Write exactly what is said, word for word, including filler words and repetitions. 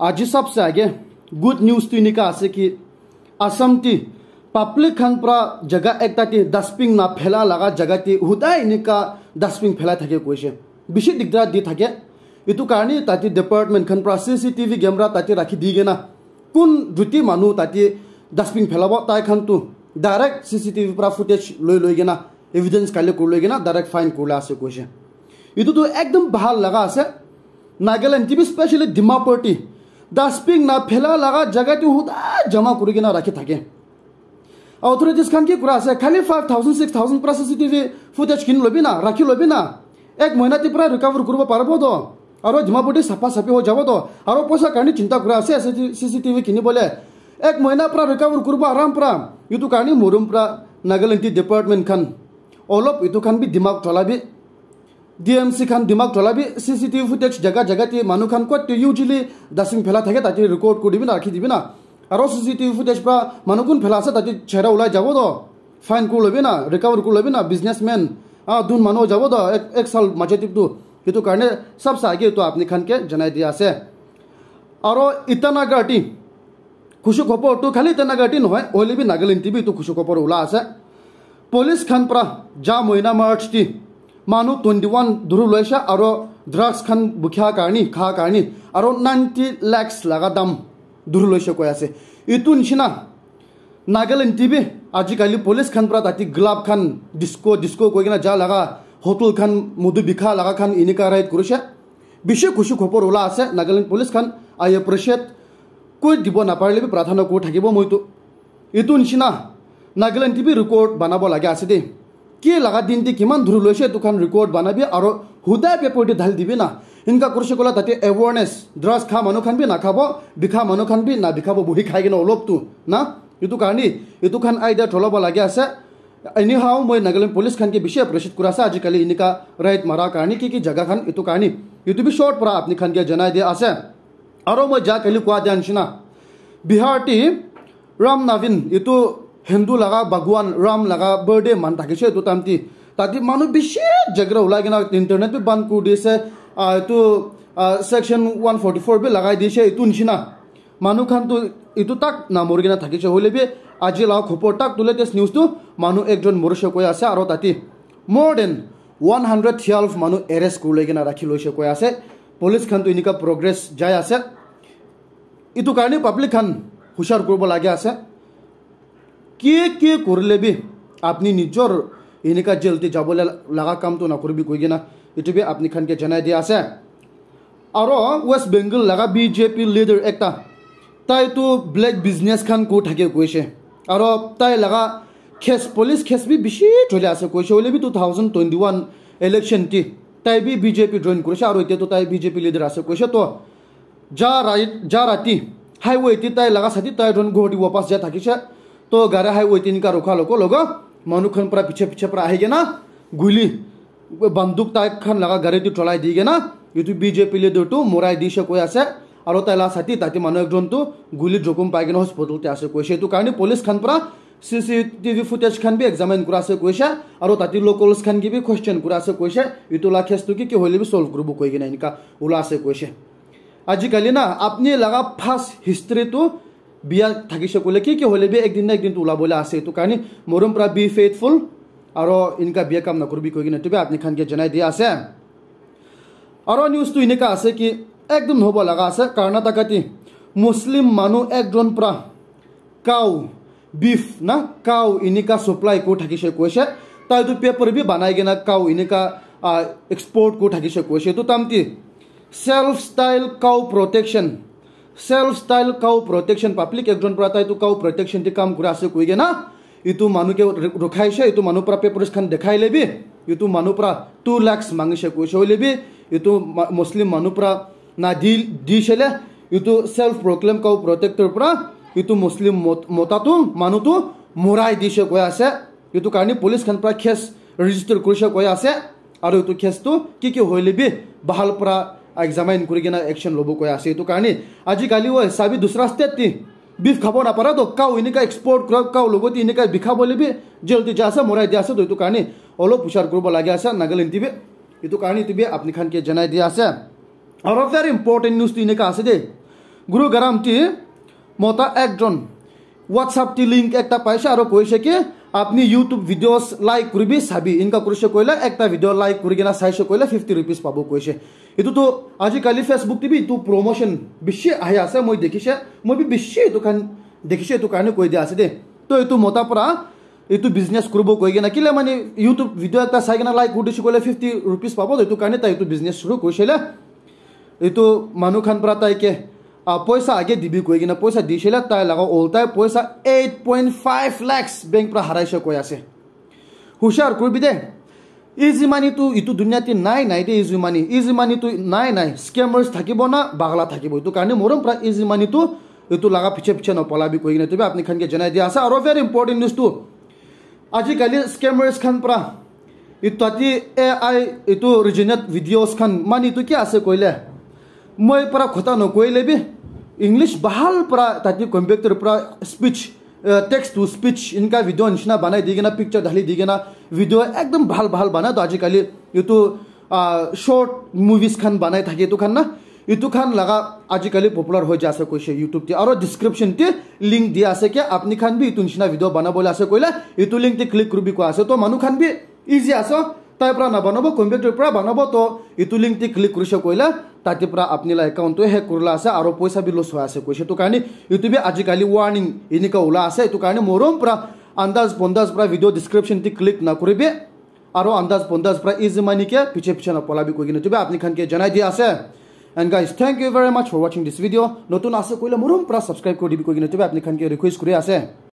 Aji sabse age good news tu enika ase ki Assam ti public khan pra jaga ekta ti dustbin na phela laga jaga ti hudai enika dustbin phela thake koise. Bishi digdar di thake. Itu karni tati department khan pra C C T V camera tati rakhi di gena kun duty manu tati dustbin phelabo tai khan tu direct C C T V pra footage loi loi gena evidence collect kuri loi gena direct fine kurila ase koise. Itu tu ekdom bhal laga ase. Nagaland ti bi specially Dimapur ti dustbin na phela laga jaga ti huda jama kuri gena rakhi thake. Authorities khan ki kura ase khali five thousand six thousand pra C C T V footage kini lobi na rakhi lobi na ek mohina ti pra recover kuribo paribo to. Aro Dimapur ti sapa sapi ho jabo to. Aro poisa karni chinta kura ase C C T V kini bole ek mohina pra recover kuribo aram pra. Itu karni morum pra Nagaland ti department khan olop itu khan bi dimag cholabi. D M C khan dimag cholabi C C T V footage jaga jaga ti manu khan kot te usually dustbin phela thake tati record kuri dibi na rakhi dibi na. Aro C C T V footage pra manu kun phela ase tati chehra ulai jabo to. Fine kuri lobi na, recover kuri lobi na, businessman ah dun manu jabo to ek, ek sal maje tip tu. Itu karne sabse age itu apni khan ke janai dia ase. Aro Itanagar ti khushi khobor tu khali Itanagar ti nohoi, hoile bi Nagaland ti bi itu khushi khobor ula ase. Police khan pra ja mohina March ti manu twenty one dhuru loise aro drugs khan bukha karni, kha karni aro ninety lakhs laga dam dhuru loise koi ase. Itu nishina Nagaland ti bi ajikali police khan pra tati club khan disco, disco koi kena ja laga hotel khan modu bikha laga khan enika raid kurise. Bishi khushi khobor ula ase Nagaland police khan. I appreciate. Koi dibo naparile bi prathana kuri thakibo moi tu. Itu nishina Nagaland ti bi record banabo lage ase de. Ki laga din ti kiman dhuru loise itu khan record banabi aro hudai paper ti dhali dibi na. Inka kurise kola tate awareness, drugs kha manu khan bi nakhabo, bikha manu khan bi na bikhabo buhi khai kena olop tu na. Itu karni itu khan idea cholabo lage ase. Anyhow moi Nagaland police khan ke bishi appreciate kura ase ajikali enika raid mara karni ki ki jaga khan itu karni. Itu bi short pra apni khan ke janai dia ase. Aro moi ja kali kua dia nishina Bihar ti Ram Navin itu Hindu laga Bhagwan Ram laga birthday man thakise itu time ti. Tati manu bishi jagra ulai kena internet bi ban kuri dise. Ah, itu ah, section one forty four bi lagai dise itu nishina. Manu khan tu itu tak na mori kena thakise hoile bi aji la khopor tak tu latest news tu manu ekjon morise koi ase aro tati more than one hundred twelve manu arrest kuri loi kena rakhi loise koi ase. Police khan tu enika progress jai ase. Itu karne public khan hushar kuribo lage ase. Ki ki kurile bi apni nijor enika jail te jabole laga kam tu na kuribi koi kena itu bi apni khan ke janai dia ase. Aro West Bengal laga B J P leader ekta tai tu black business khan kuri thake koise. Aro tai laga case, police case bi bishi choli ase koise. Hoile bi two thousand twenty one election ti tai bi B J P join kurise aro etia tu tai B J P leader ase koise. To ja rai-, ja rati highway ti tai laga sati tai jon ghor ti wapas ja thakise. To gari highway ti enika rukha logo logo manu khan pra piche piche pra ahi kena guli banduk tai khan laga gari tu cholai di kena itu B J P leader tu morai dise koi ase. Aro tai la sati tati manu ekjon tu guli jokhom pai kena hospital te ase koise. Itu karne police khan pra C C T V footage khan bi examine kura ase koise. Aro tati locals khan ki bi question kura ase koise. Itu la case tu ki ki hoile bi solve kuribo koi kena enika ula ase koise. Ajikali na apni laga past history tu biya thakise koile ki ki hoile bi ekdin na ekdin tu ulabole ase. Itu karne morom pra be faithful aro enika biya kam na kuribi koi kena itu bi apni khan ke janai dia ase. Aro news tu enika ase ki ekdom hobo laga ase Karnataka ti Muslim manu ekjon pra cow, beef na cow enika supply kuri thakise koise. Tai tu paper bi banai kena cow enika ah, export kuri thakise koise. Itu time ti self style cow protection, self style cow protection public ekjon pra tai tu cow protection ti kam kuri ase koi kena itu manu ke ru-, rukhaise. Itu manu pra papers khan dekhai le bi itu manu pra two lakhs mangise koise. Hoile bi itu ma-, Muslim manu pra na di, di shele itu self proclaim cow protector pra itu Muslim mot-, mota tu manu tu morai dise koi ase. Itu karne police khan pra case register kurise koi ase. Aro itu case tu ki ki hoile bi bahal pra examine kuri kena action lobo koi ase. Itu karne ajikali oi sabi dusra state ti beef khabo na para to cow enika export kura cow logot enika bikha bole bi jail ti ja ase morai dia ase. To itu karne olop hushar kuribo lage ase Nagaland ti bi. Itu karne itu bi apni khan ke janai dia ase. Aro very important news tu enika ase de. Gurugram ti mota ekjon WhatsApp ti link ekta paise aro koise ki apni YouTube videos like kuribi sabi, inka kurise koile ekta video like kuri kena saise koile fifty rupees pabo koise. Etu tu ajikali Facebook ti bi etu promotion bishi ahi ase, moi dekhise, moi bi bishi etu khan dekhise, etu karne koi dia ase de. To etu mota para etu business kuribo koi kena kile mane YouTube video ekta sai kena like kuri dise koile fifty rupees pabo, etu karne tai etu business shuru kurise le. Etu manu khan para tai ke ah, poisa age dibi koi kena poisa dise le, tai laga oltai poisa eight point five lakhs bank para haraise koi ase. Hushar kuribi de. Easy money tu etu dunia te nai nai de, easy money. Easy money tu nai nai. Scammers thakibo na bagla thakibo. Etu karne morom para easy money tu etu laga piche piche na palabi koi kena tu bi apni khan ke janai dia ase. Aro very important news tu ajikali scammers khan para etu tate A I etu originate videos khan mane etu ki ase koile, moi para khota no koile bi English bahal para tate computer para speech, eh, text to speech inka video nishina banai di kena, picture dhali di kena video ekdom bahal bahal banai to ajikali etu ah, short movies khan banai thake etu khan na, etu khan laga ajikali popular hoi ja ase koise YouTube te. Aro description te link dia ase ke apni khan bi etu nishina video banabole ase koile etu link te click kuribi koi ase. To manu khan bi easy ase, tai para na banabo, computer para banabo, to etu link te click kurise koile tate para apni la account to hack kurila ase aro poisa bi loss hoi ase koise. Etu karne etu bi ajikali warning enika ula ase. Etu karne morom para andaz bondaz para video description te click na kuribi. Aro andaz bondaz pra easy money ke piche piche na polabi koi kena tu bi apni khan ke janai dia ase. And guys, thank you very much for watching this video. Notun ase koile morom pra subscribe kuri dibi koi kena tu bi apni khan ke request kuri ase.